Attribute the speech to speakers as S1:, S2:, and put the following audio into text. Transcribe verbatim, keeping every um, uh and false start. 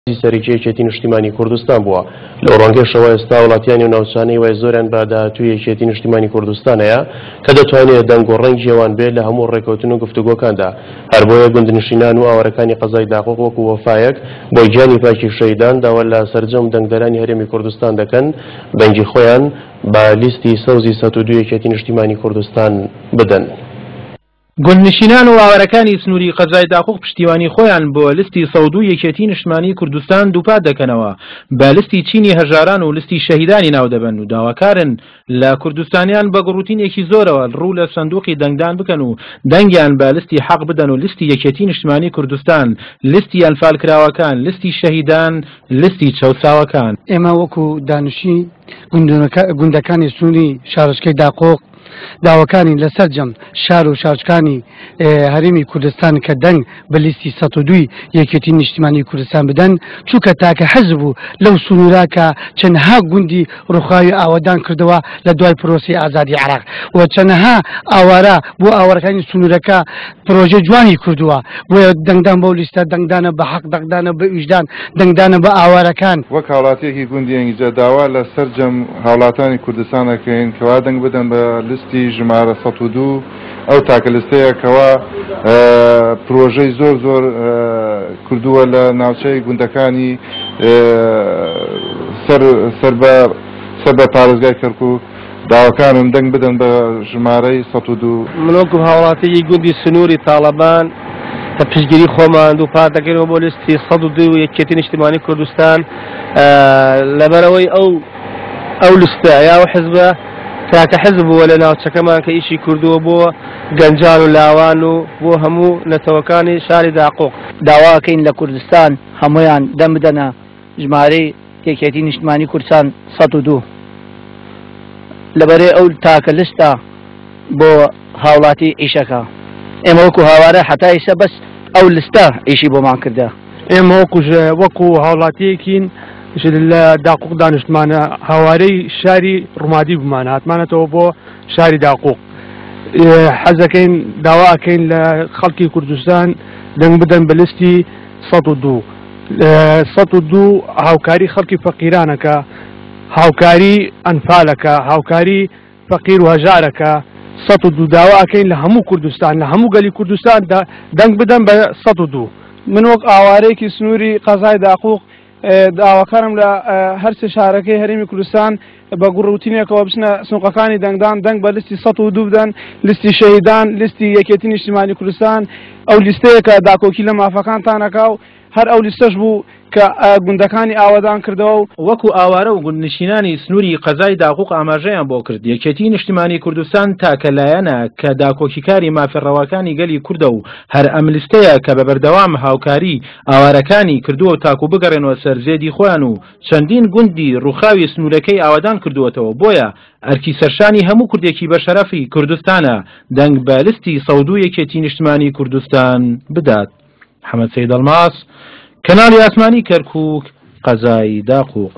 S1: سەرەکی یەکێتی نیشتیمانی کوردستان بووە. لەو ڕەنگەشەوە ئێستا وڵاتیانی و ناوچانەی وای زۆریان بە داهاتووی یەکێتی نیشتیمانی کوردستان هەیە کە دەتوانێت دەنگ و ڕەنگی ئەوان بێت لە هەموو ڕێکەوتن و گفتوگۆکاندا. هەر بۆیە گوندنشینان و ئاوارەکانی قەزای داقوق وەکو وەفایەک بۆ گیانی پاکی شەهیدان داوا لە سەرجەم دەنگدەرانی هەرێمی کوردستان دەکەن دەنگی خۆیان بە لیستی سەوزی سەد و دوو یەکێتی نیشتیمانی کوردستان بدەن.
S2: گوندنشینان و ئاوارەکانی سنووری قەزای داقوق پشتیوانی خۆیان بۆ لیستی سەد و دوو یەکێتی نیشتمانی کوردستان دووپات دەکەنەوە، بە لیستی چینی هەژاران و لیستی شەهیدانی ناودەبەن و داواکارن لە کوردستانیان بە گوڕوتینێکی زۆرەوە ڕوو لە سندوقی دەنگدان بکەن و دەنگیان بە لیستی حەق بدەن و لیستی یەکێتی نیشتمانی کوردستان، لیستی ئەنفالکراوەکان، لیستی شەهیدان، لیستی چەوساوەکان.
S3: ئێمە وەکو دانیشتنی گوندەکانی سنووری شارۆچکەی داقوق داواکانی لەسەر جەم شار و شارۆچکانی هەرێمی کوردستان کە دەنگ بە لیستی سەد و دووی یەکێتی نیشتیمانی کوردستان بدەن، چونکە تاکە حەزب بوو لەو سنوورا کە چەندها گوندی ڕووخاوی ئاوادان کردەوە لە دوای پرۆسی ئازادی عێراق و چەندها ئاوارە بۆ ئاوارەکانی سنوورەکە پرۆژە جوانی کردووە. بۆیە دەنگدان بەو لیستە دەنگدانە بە حەق، دەنگدانە بە ویژدان، دەنگدانە بە ئاوارەکان.
S4: وەک هاوڵاتیەکی گوندی ئەنگیجە داوا لە سەرجەم هاوڵاتانی کوردستان دەکەین کەوا دەنگ بدەن بە لیستی ژمارە سەد و دوو. ئەو تاکە لیستەیە کەوا پرۆژەی زۆر زۆر کردووە لە ناوچەی گوندەکانی سەر بە پارێزگای کەرکوو. داواکانم دەنگ بدەن بە ژمارەی سەد و دوو.
S5: من وەکو هاوڵاتیی گوندی سنووری تاڵەبان کە پشتگیری خۆمان دووپات دەکەینەوە بۆ لیستی سەد و دوو یەکێتی نیشتیمانی کوردستان، لەبەرەوەی ئەو ئەو لیستە یا ئەو حزبە تاکە حزب بووە لە ناوچەکەمان کە ئیشی کردووە بۆ گەنجان و لاوان و بۆ هەموو نەتەوەکانی شاری داقوق.
S6: داواکەین لە کوردستان هەمویان دەم بدەنە ژمارەی یەکێتی نیشتمانی کوردستان سەد و دوو، لەبەرێ ئەو تاکە لیستە بۆ هاوڵاتی ئیشەکە. ئێمە وەکو هاوارە حتا ئیسە بەس ئەو لیستە ئیشی بۆمان کردە.
S7: ئێمە وەکو هاوڵاتیەکین لە داقوق دانیشتمانە هاوارەی شاری ڕومادی بمانە هاتمانەتەوە بۆ شاری داقوق. حەزەکەین داواکەین لە خەڵکی کوردستان دەنگ بدەن بە لیستی سەد و دوو. سەد و دوو هاوکاری خەڵکی فەقیرانەکە، هاوکاری ئەنفالەکە، هاوکاری فەقیر و هەژارەکە. سەد و دوو داواکەین لە هەموو کوردستان، لە هەموو گەلی کوردستان دەنگ بدەن بە سەد و دوو.
S8: من وەک ئاوارەیەکی سنووری قەزای داقوق داواکارم لە هەرسێ شارەکەی هەرێمی کوردستان بە گوڕوتینێکەوە بچنە سنوقەکانی دەنگدان، دەنگ بە لیستی سەد و دوو بدەن، لیستی شەهیدان، لیستی یەکێتی نیشتیمانی کوردستان. ئەو لیستەیە کە داکۆکی لە مافەکانتانەکا و هەر ئەو لیستەش بوو کە گوندەکانی ئاوادان کردەوە.
S2: وەکو ئاوارە و گوندنشینانی سنووری قەزای داقوق ئاماژەیان بۆ کرد، یەکێتی نیشتیمانی کوردستان تاکە لایەنە کە داکۆکیکاری مافە ڕەواکانی گەلی کوردە و هەر ئەم لیستەیە کە بە بەردەوام هاوکاری ئاوارەکانی کردووە تاکو بگەڕێنەوە سەر زێدی خۆیان و چەندین گوندی ڕووخاوی سنوورەکەی ئاوادان کردووەتەوە. بۆیە ئەرکی سەرشانی هەموو کوردێکی بە شەرەفی کوردستانە دەنگ بە لیستی سەد و دوو یەکێتی نیشتمانی کوردستان بدات. محەممەد سەید ئەڵماس، کەناڵی ئاسمانی کەرکووک، قەزای داقوق.